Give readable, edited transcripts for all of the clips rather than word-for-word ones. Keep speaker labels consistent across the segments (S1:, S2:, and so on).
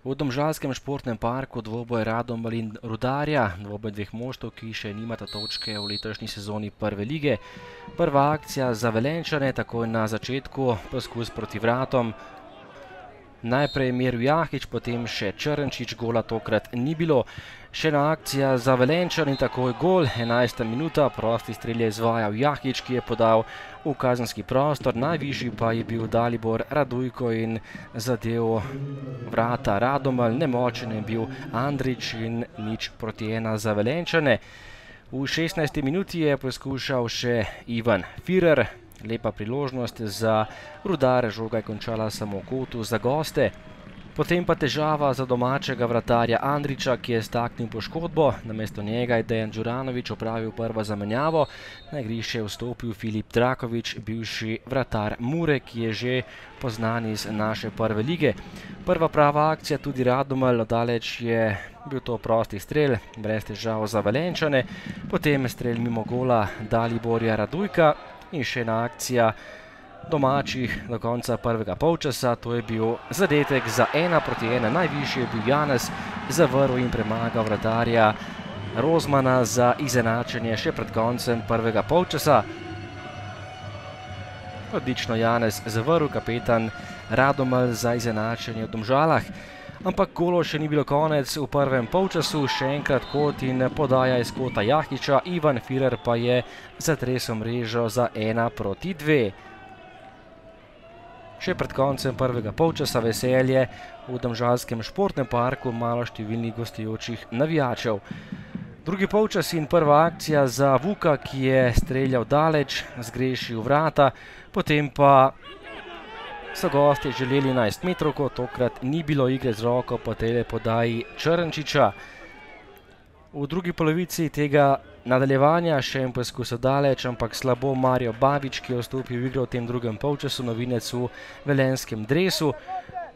S1: V domžalskem športnem parku dvoboj Radomelj in Rudarja, dvoboj dveh moštev, ki še nimata točke v letošnji sezoni prve lige. Prva akcija za Velenjčane, takoj na začetku poskus proti vratom. Najprej Miro Jahič, potem še Črnčič, gola tokrat ni bilo. Še ena akcija za Velenjčane in takoj gol, 11. minuta, prosti strel je izvajal Jahič, ki je podal v kazenski prostor, najvišji pa je bil Dalibor Radujko in zadev vrata Radomelj, nemočen je bil Andrić in 0:1 za Velenjčane. V 16. minuti je poskušal še Ivan Firer. Lepa priložnost za Rudar, žoga je končala samo v kotu za goste. Potem pa težava za domačega vratarja Andrića, ki je staknil poškodbo. Namesto njega je Dejan Đuranović opravil prvo zamenjavo. Na igrišče je vstopil Filip Draković, bivši vratar Mure, ki je že poznan iz naše prve lige. Prva prava akcija tudi Radomelj, daleč je bil to prosti strel, brez težav za Velenjčane. Potem strel mimo gola Daliborja Radujka. In še ena akcija domačih do konca prvega polčasa, to je bil zadetek za 1:1. Najvišji je bil Janez, zavrl in premagal vratarja Rozmana za izenačenje še pred koncem prvega polčasa. Odlično Janez zavrl, kapetan Radomelj za izenačenje v Domžalah. Ampak golov še ni bilo konec v prvem polčasu, še enkrat kot in podaja iz kota Jahiča, Ivan Firer pa je zatresel mrežo za 1:2. Še pred koncem prvega polčasa veselje v domžalskem športnem parku maloštevilnih gostujočih navijačev. Drugi polčas in prva akcija za Vuka, ki je streljal daleč, zgrešil vrata, potem pa so gostje želeli 11-metrovko, tokrat ni bilo igre z roko po tej podaji Črnčiča. V drugi polovici tega nadaljevanja še en poskus daleč, ampak slabo Mario Babič, ki je vstopil v igro v tem drugem polčasu, novinec v velenjskem dresu.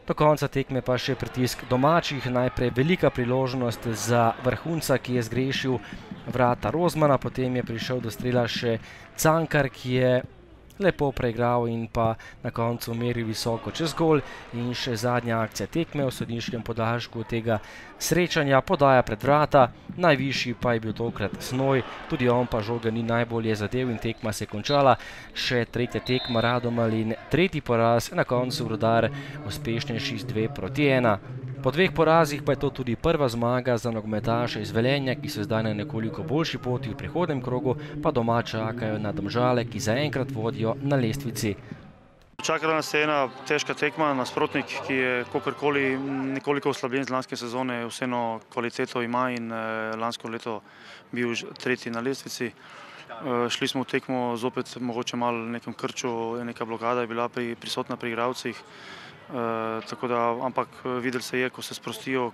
S1: Do konca tekme pa še pritisk domačih, najprej velika priložnost za vrhunca, ki je zgrešil vrata Rozmana, potem je prišel do strela še Cankar, ki je lepo preigral in pa na koncu meril visoko čez gol. In še zadnja akcija tekme v sodniškem podaljšku tega srečanja, podaja pred vrata, najvišji pa je bil tokrat Snoj, tudi on pa žoga ni najbolje zadev in tekma se je končala. Še tretja tekma Radomelj in tretji poraz, na koncu Rudar uspešnejši z 2:1. Po dveh porazih pa je to tudi prva zmaga za nogometaše iz Velenja, ki so zdaj na nekoliko boljši poti, v prihodnem krogu pa doma čakajo na Domžale, ki zaenkrat vodijo na lestvici.
S2: Čakala nas je ena težka tekma, nasprotnik, ki je kakorkoli nekoliko oslabljen z lanske sezone, vseeno kvaliteto ima in lansko leto bil tretji na lestvici. Šli smo v tekmo zopet mogoče malo v nekem krču, neka blokada je bila prisotna pri igralcih. Ampak videli se je, ko se sprostijo,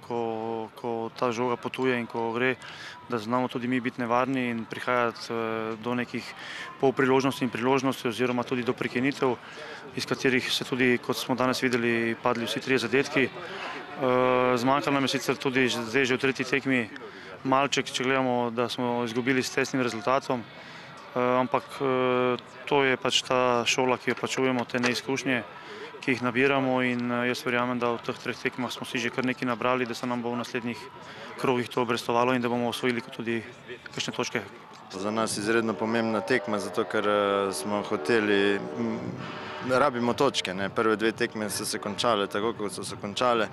S2: ko ta žoga potuje in ko gre, da znamo tudi mi biti nevarni in prihajati do nekih polpriložnosti in priložnosti oziroma tudi do prekinitev, iz katerih se tudi, kot smo danes videli, padli vsi trije zadetki. Zmanjkalo nam je sicer tudi zdaj že v tretji tekmi malček, če gledamo, da smo izgubili s tesnim rezultatom, ampak to je pač ta šola, ki jo plačujemo, te neizkušnje, ki jih nabiramo in jaz verjamem, da v teh treh tekmah smo si že kar nekaj nabrali, da se nam bo v naslednjih krogih to obrestovalo in da bomo osvojili tudi kakšne točke.
S3: Za nas je izredno pomembna tekma, zato ker smo hoteli, rabimo točke. Prve dve tekme so se končale tako, kot so se končale.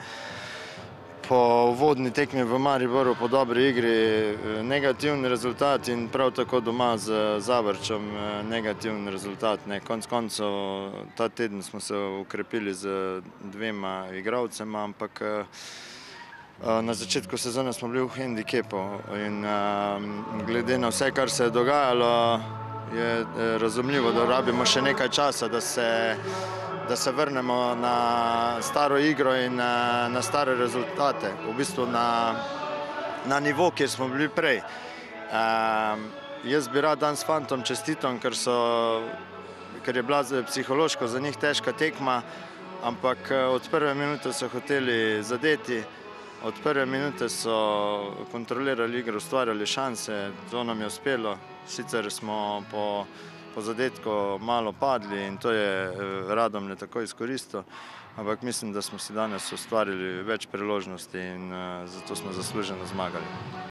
S3: Po uvodni tekmi v Mariboru, po dobri igri, negativni rezultat in prav tako doma z Zavrčem negativni rezultat. Konec koncev ta teden smo se ukrepili z dvema igralcema, ampak na začetku sezone smo bili v hendikepu in glede na vse, kar se je dogajalo, je razumljivo, da rabimo še nekaj časa, da se vrnemo na staro igro in na stare rezultate, v bistvu na nivo, kjer smo bili prej. Jaz bi rad danes fantom čestitam, ker je bila psihološko za njih težka tekma, ampak od prve minute so hoteli zadeti, od prve minute so kontrolirali igro, ustvarjali šanse, to nam je uspelo. Sicer smo po po zadetku malo padli in to je Radomlje tako izkoristil, ampak mislim, da smo si danes ustvarili več priložnosti in zato smo zasluženo zmagali.